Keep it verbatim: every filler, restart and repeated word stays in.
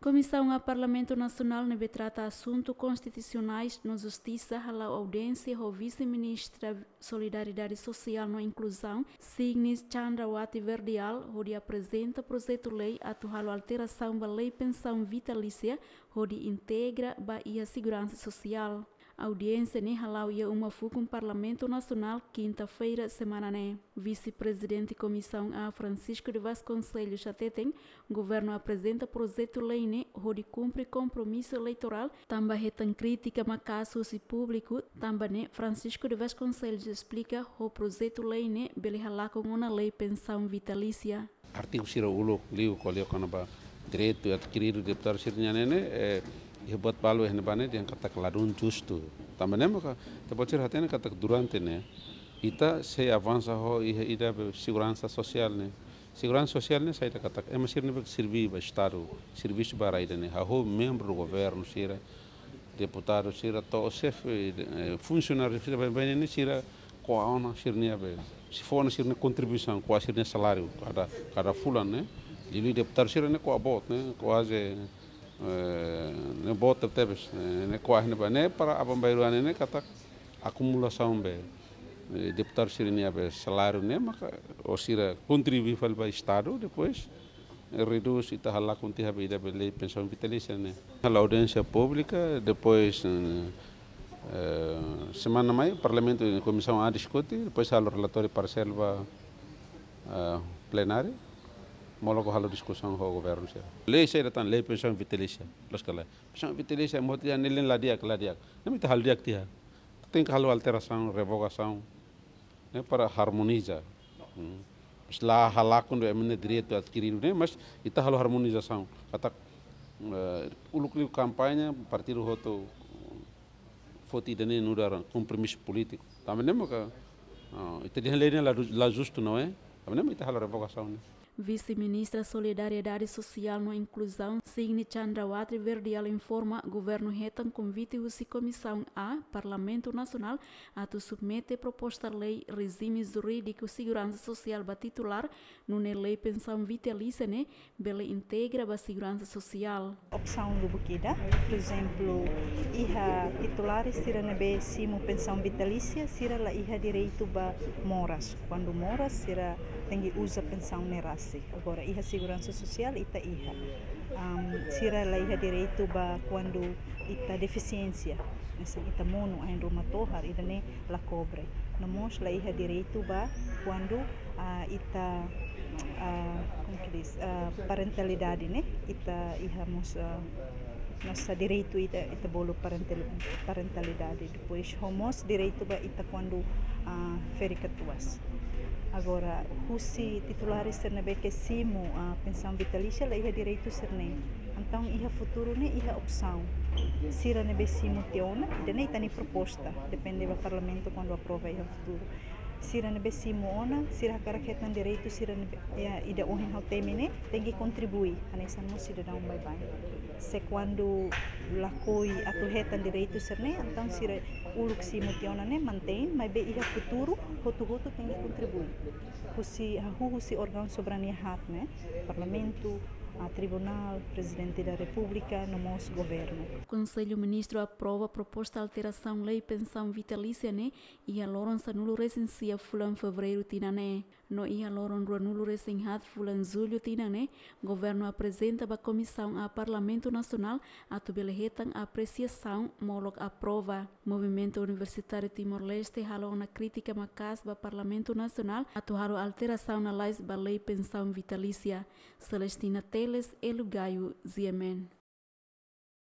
Komisaun A Parlamentu Nasionál ne'ebé trata asuntu konstitusionais no justisa hala'o audiénsia ho Vise-Ministra Solidariedade Sosiál no Inkluzaun, Signis Chandrawati Verdial, hodi aprezenta projetu lei atu halo alterasaun ba lei pensaun vitalísia, hodi integra ba iha seguransa sosiál. Audiénsia ne'e hala'o iha uma fukun Parlamentu Nasionál, kinta-feira semana ne'e. Vise-Prezidente Komisaun A, Francisco de Vasconcelos, hateten, governu aprezenta projetu lei ne'e hodi kumpre kompromisu eleitorál, tanba hetan krítika maka'as husi públiku. Tanba ne'e, Francisco de Vasconcelos esplika, ho projetu lei ne'e bele halakon ona lei pensaun vitalísia. Artigu sira uluk liu ko'alia kona-ba direitu adkiridu deputadu sira-nian ne'e, eh, iha buat balu iha ne'ebá ne'e dehan katak ladún justu. Tanba ne'e maka, ita-boot sira hatene katak durante ne'e, ita sei avansa ho iha ida be seguransa sosiál ne'e. Seguransa sosiál ne'e saida katak, ema sira ne'ebé serví ba Estadu, servisu ba rai ida-ne'e, hahú membru governu sira, deputadu sira, to'o xefe, eh, funsionáriu sira, baibain ne'e sira ko'a ona sira-nia be, sei fó ona sira-nia kontribuisaun, ko'a sira-nia saláriu kada, kada fulan ne'e. Liuliu deputadu sira ne'e ko'a boot ne'e, kuaze, eh, ne'e boot tebetebes, eh, ne'e ko'a ne'ebá ne'e para aban-bainrua ne'e katak akumulasaun be, eh, deputadu sira-nia be saláriu ne'e maka, ou sira kontribui fali ba Estadu, depois redús, ita halakon tiha be ida be lei pensaun vitalísia ne'e. Halo audiénsia públika, depois, eh, eh, semana mai Parlamentu, Komisaun A diskute, depois halo relatóriu parsel ba, eh, plenária, molok halo diskusaun ho governu sira. Lei saida tan, lei pensaun vitalísia, loos ka lae. Pensaun vitalísia mós tiha ne'e la di'ak, la di'ak. Ne'e mak ita halo di'ak tiha. Tenke halo alterasaun, revogasaun, ne'e para harmoniza. Hmm. Mas la halakon de'it ema nia direitu adkiridu ne'e, mas ita halo harmonizasaun. Katak, eh, uluk liu kampaña, partidu hotu foti ida-ne'e nu'udar kompromisu polítiku. Tanba ne'e maka, ah, ita dehan lei ne'e la, la justu, não é? Tanba ne'e maka ita halo revogasaun ne'e. Vise-Ministra Solidariedade Sosiál no Inkluzaun, Signi Chandrawati Verdial informa, governu hetan konvite husi Komisaun A, Parlamentu Nasionál, atu submete proposta lei rejime jurídiku seguransa sosiál ba titulár, nune'e lei pensaun vitalísia ne'e bele integra ba seguransa sosiál. Opsaun lubuk ida, por ezemplu, iha titulares sira ne'ebé simu pensaun vitalísia, sira la iha direitu ba moras. Kuandu moras, sira tenke uza pensaun ne'e rasik. Agora, iha seguransa sosiál, ita iha. Am, sira la iha direitu ba kuandu ita defisiénsia. Hanesan ita monu, ain ruma tohar, ida-ne'e la kobre. No mós la iha direitu ba kuandu, ah, ita, ah, como que diz, ah, parentalidade, ne'e? Ita iha mós, ah, nossa direitu ita, ita bolu parental-, parentalidade. Depois, ho mós direitu ba ita kuandu, ah, ferik-katuas. Agora, husi titulares sira ne'ebé ke simu, ah, pensaun vitalísia, la iha direitu sira-ne'e. Entaun, iha futuru ne'e iha opsaun. Sira ne'ebé simu tiha ona, ida-ne'e ita-nia proposta, depende ba Parlamentu kuandu aprova iha futuru. Sira ne'ebé simu ona, sira hakarak hetan direitu sira ne'ebé, ya, ida ohin ha'u temi ne'e, tenke kontribui, hanesan mós sidadaun baibain. Se kuandu lakohi atu hetan direitu sira-ne'e, entaun sira uluk simu tiha ona ne'e mantein, maibé iha futuru, hotu-hotu tenke kontribui. Husi, hahú husi órgaun soberania haat ne'e, Parlamentu, ah, Tribunál, Prezidente da Repúblika, no mós Governu. Konsellu Ministru aprova proposta alterasaun lei pensaun vitalísia ne'e iha loron sanulu-resin-sia fulan Fevereiru tinan ne'e. No iha loron ruanulu-resin-haat fulan Jullu tinan ne'e, Governu aprezenta ba Komisaun A Parlamentu Nasionál atu bele hetan apresiasaun molok aprova. Movimentu Universitáriu Timor-Leste halo ona krítika maka'as ba Parlamentu Nasionál atu halo alterasaun lalais ba lei pensaun vitalísia. Celestina Teles, Elu Gayo, G M N.